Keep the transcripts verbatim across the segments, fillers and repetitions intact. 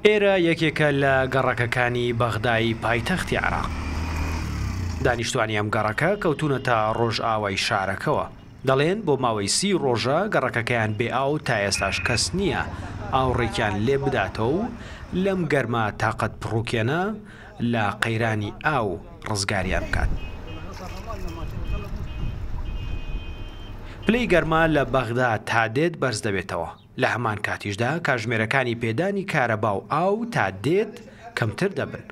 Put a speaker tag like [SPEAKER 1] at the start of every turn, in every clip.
[SPEAKER 1] ئێرە یەکێکە لە گەڕەکەکانی بەغدای پایتەختی عێراق. دانیشتوانی ئەم گەڕەکە کەوتونەتە ڕۆژئاوای شارەکەوە، دەڵێن بۆ ماوەی سی ڕۆژە گەڕەکەکەیان بێ ئاو، تا ئێستاش کەس نییە ئاوڕێکیان لێ بداتەوە و لەم گەرما تاقەت پڕوکێنە لە قەیرانی ئاو ڕزگاریان بکات. پلەی گەرما لە بەغدا تا دێت بەرز دەبێتەوە، لە هەمان کاتیشدا کاژمێرەکانی پێدانی کارەبا و ئاو تا دێت کەمتر دەبن.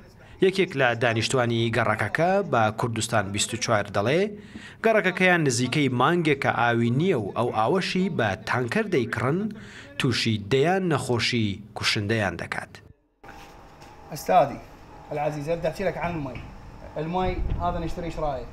[SPEAKER 1] یەکێک لە دانیشتوانی گەڕەکەکە بە کوردستان بیست و چوار دەڵێ گەڕەکەکەیان نزیکەی مانگێکە ئاوی نییە و ئەو ئاوەشی بە تانکەر دەیکڕن تووشی دەیان نەخۆشی کوشندەیان دەکات.
[SPEAKER 2] أستاذي العزيز أبدأ أحكي لك عن المي. المي هذا نشتري شرايه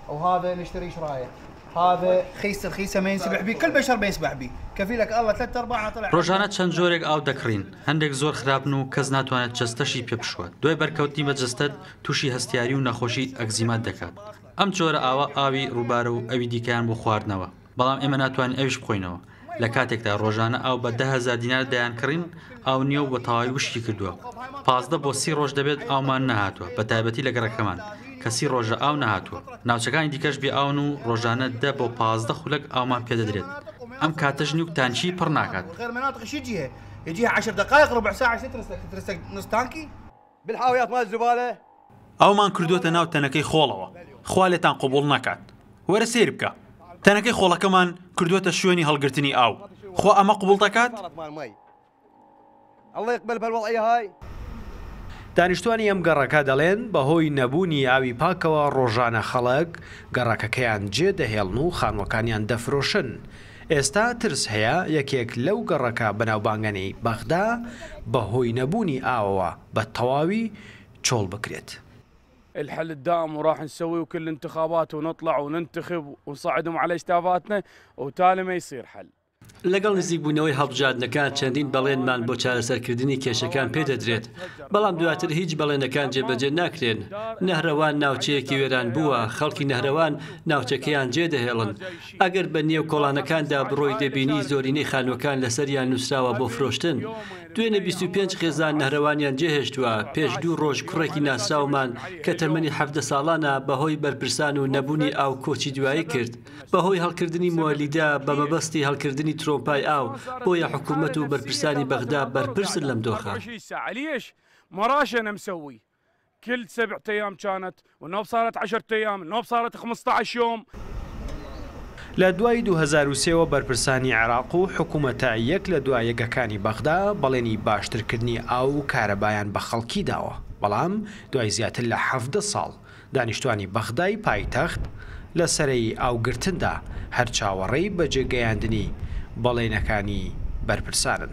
[SPEAKER 2] وهذا نشتري شرايه، هذا خيس الخيسه ما ينسبح به، كل بشر بيسبح به، كفيلك الله ثلاث ارباع طلع.
[SPEAKER 3] ڕۆژانە چەند جۆرێک ئاو دەکڕین، هەندێک زۆر خراپن و کەس ناتوانێت جەستەشی پێ بشوات. دوای بەرکەوتنی بە جەستەت تووشی هەستیاری و نەخۆشی ئەکزیمات دەکات. ئەم جۆرە ئاوە ئاوی ڕووبارە و ئەوی دیکەیان بۆ خواردنەوە، بەڵام ئێمە ناتوانین ئەویش بخۆینەوە. لە کاتێکدا ڕۆژانە ئاو بە دە هەزار دینار دەیانکڕین، ئاو نییە و بە تەواوی وشکی کردووە. پازدە بۆ سی ڕۆژ دەبێت ئاومان نەهاتووە، بە تایبەتی لە گەڕەکەمان کە سی ڕۆژە ئاو نەهاتووە. ناوچەکانی دیکەش بێ ئاون و ڕۆژانە دە بۆ پازدە خولەک ئاومان پێدەدرێت. ئەم کاتەش نیوک تانکی پڕ ناکات.
[SPEAKER 4] ئەومان کردووەتە ناو تەنەکەی خۆڵەوە، خوا لێتان قبوڵ ناکات. وەرە سەیر بکە، تەنەکەی خۆڵەکەمان کردووەتە شوێنی هەڵگرتنی ئاو، خوا ئەمە قبوڵ دەکات؟
[SPEAKER 1] دانیشتوانی ئەم گەڕەکە دەڵێن بەهۆی نەبوونی ئاوی پاکەوە ڕۆژانە خەڵک گەڕەکەکەیان جێ دەهێڵن و خانوەکانیان دەفرۆشن. ئێستا ترس هەیە یەکێک لەو گەڕەکە بەناوبانگەنەی بەغدا بەهۆی نەبوونی ئاوەوە بە تەواوی چۆڵ بکرێت.
[SPEAKER 5] الحل الدائم وراح نسوي وكل انتخابات ونطلع وننتخب ونصعدهم على اجتافاتنا وتالي ما يصير حل.
[SPEAKER 6] لەگەڵ نزیکبوونەوەی هەڵبژاردنەکان چەندین بەڵێنمان بۆ چارەسەرکردنی کێشەکان پێدەدرێت، بەڵام دواتر هیچ بەڵێنەکان جێبەجێ ناکرێن. نەهرەوان ناوچەیەکی وێران بووە، خەڵکی نەهرەوان ناوچەکەیان جێدەهێڵن. ئەگەر بە نێو کۆڵانەکاندا بڕۆی دەبینی زۆرینەی خانووەکان لەسەریان نووسراوە بۆ فرۆشتن. دوێنێ بیست و پێنج خێزان نەهرەوانیان جێهێشتووە. پێش دوو ڕۆژ کوڕێکی ناسراومان کە تەمەنی حەفدە ساڵانە بەهۆی بەرپرسان و نەبوونی ئاو کۆچی دوایی کرد. بەهۆی هەڵکردنی مۆلیدە بە مەبەستی هەڵکردنی ترۆمپای ئاو، بۆیە حکوومەت و بەرپرسانی بەغدا بەرپرسن لەم دۆخە.
[SPEAKER 5] كل سبعة أيام كانت والنوب صارت عشرة أيام النوب صارت خمسة عشر يوم.
[SPEAKER 1] لە دوای دوو هەزار و سێوە بەرپرسانی عێراق و حکوومەتە یەک لە دوای یەکەکانی بەغدا بەڵێنی باشترکردنی ئاو و کارەبایان بە خەڵکی داوە، بەڵام دوای زیاتر لە حەفدە ساڵ دانیشتوانی بەغدای پایتەخت لە سەرەی ئاوگرتندا هەر چاوەڕێی بەجێگەیاندنی بەڵێنەکانی بەرپرسانن.